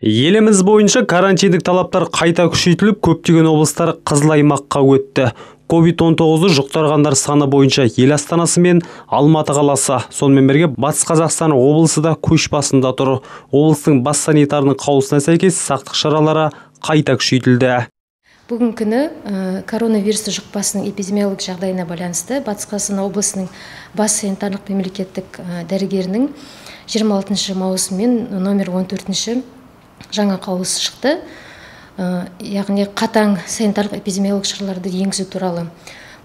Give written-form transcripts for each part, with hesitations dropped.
Еліміз бойынша карантиндік талаптар қайта күшейтіліп, көптеген облыстар қызыл аймаққа өтті. COVID-19 жұқтырғандар саны бойынша ел астанасы мен Алматы қаласы, сонымен бірге Батыс Қазақстан облысы да көш басында тұр. Облыстың бас санитарының қаулысына сәйкес сақтық шаралары қайта күшейтілді. Бүгін күні коронавирус жұқпасының эпидемиологиялық жағдайына байланысты Батыс Қазақстан облысының бас санитарлық мемлекеттік дәрігерінің 26 маусым мен номер 14 жаңа қаулысы шықты. Яғни қатаң санитарлық эпидемиологиялық шараларды енгізу туралы.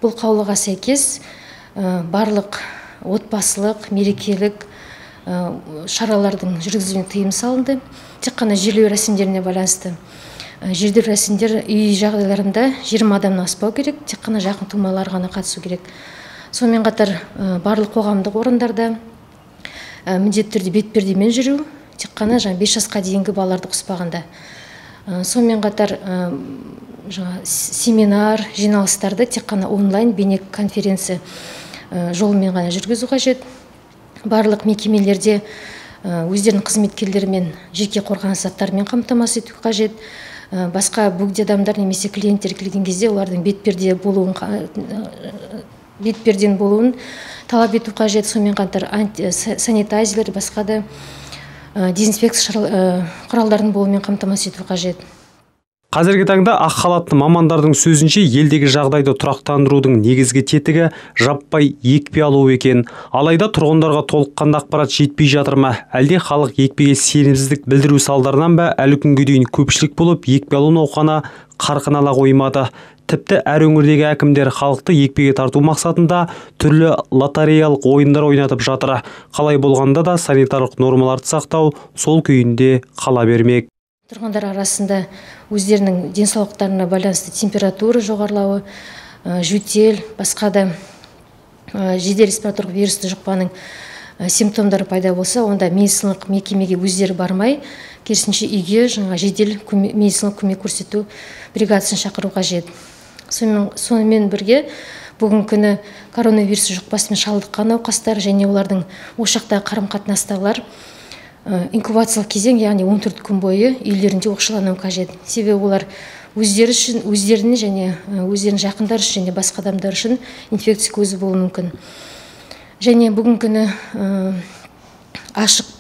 Бұл қаулыға сәйкес барлық отбасылық, мерекелік шаралардың жүргізілуіне тыйым салынды. Тек қана жерлеу рәсімдеріне байланысты. Жерлеу рәсімдер үй жағдайларында 20 адамнан аспау керек, тек қана жақын тумалар ғана қатысу керек. Сонымен қатар барлық қоғамдық орындарда міндетті түрде бетпердемен жүру, тек қана 5 жасқа дейінгі балаларды қоспағанда. Сонымен қатар семинар, жиналыстарды тек қана онлайн бейне конференция жолымен ғана жүргізу қажет. Барлық мекемелерде өздерінің қызметкерлерімен жеке қорғаныс заттарымен қамтамасыз ету қажет. Басқа бөгде адамдар немесе клиенттер келген кезде олардың бетперден болуын талап ету қажет. Сонымен қатар санитайзерлер, басқа да дезинфекция құралдарын болуымен қамтамасыз ету қажет. Қазіргі таңда ақ халатты мамандардың сөзінше елдегі жағдайды тұрақтандырудың негізгі тетігі жаппай екпе алу екен. Алайда тұрғындарға толыққанды ақпарат жетпей жатыр ма? Әлде халық екпеге сенімсіздік білдіру салдарынан ба әлі күнге дейін көпшілік болып екпе алу науқаны қарқын ала қоймады? Тіпті әр өңірдегі әкімдер халықты екпеге тарту мақсатында түрлі лотереялық ойындар ойнатып жатыр. Қалай болғанда да санитарлық нормаларды сақтау сол күйінде қала бермек. Тұрғындар арасында өздерінің денсаулықтарына байланысты температура жоғарылауы, жөтел, басқа да жедел респираторлық вирусты жұқпаның симптомдары пайда болса, онда медициналық мекемеге өздері бармай, керісінше үйге жедел медициналық көмек көрсету бригадасын шақыру қажет. Сонымен бірге бүгін күні коронавирус жұқпасымен шалдыққан науқастар және олардың ошақта қарым-қатынастағылар инкубациялық кезең, яғни 14 күн бойы үйлерінде оқшаулануы қажет. Себебі олар өздері үшін, өздеріне және өздерінің жақындары үшін және басқа адамдар үшін инфекция көзі болуы мүмкін. Және бүгін күні ашық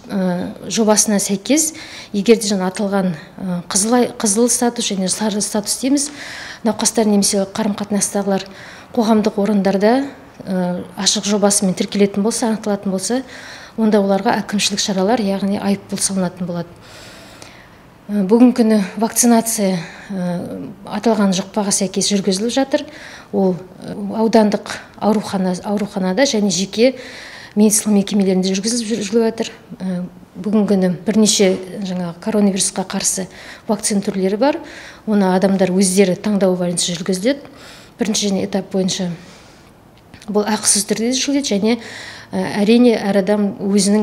жобасына сәйкес, егер де аталған қызыл статус және сары статус дейміз, науқастар немесе қарым-қатынастағылар қоғамдық орындарда ашық жобасымен тіркелетін болса, анықталатын болса, онда оларға әкімшілік шаралар, яғни айыппұл салынатын болады. Бүгін күні вакцинация аталған жұқпаға сәйкес жүргізіліп жатыр. Ол аудандық ауруханада және жеке медициналық мекемелерінде жүргізіліп жатыр. Бүгін күні бірнеше коронавирусқа қарсы вакцина түрлері бар. Оны адамдар өздері таңдауы бойынша жүргізіледі. Бірінші этап бойынша бұл ақысыз түрде жүргізіледі және әрине әр адам өзінің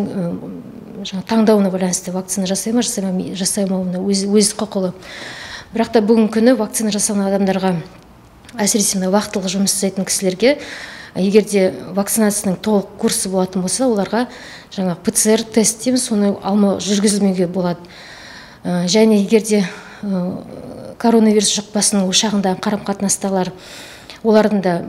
таңдауына байланысты вакцина жасай ма, жасамауына өз құқылы. Бірақ та бүгін күні вакцина жасаған адамдарға, әсіресе вақтылы жұмыс жасайтын кісілерге, егер де вакцинацияның толық курсы болатын болса, оларға ПЦР тест дейміз, соны жүргізілмеуге болады. Және егер де коронавирус жұқпасының ошағында қарым-қатынастағылар олардың да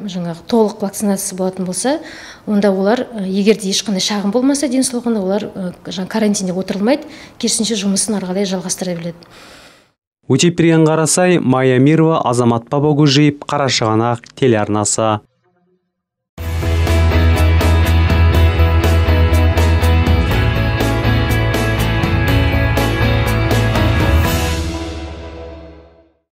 толық вакцинация болатын болса, онда олар, егер де ешқандай шағым болмаса денсаулығында, олар карантинде отырылмайды, керісінше жұмысын ары қарай жалғастыра береді. Өтепберген Қарасай, Майя Мирова, Азамат Бабагөжиев, Қарашығанақ телеарнасы.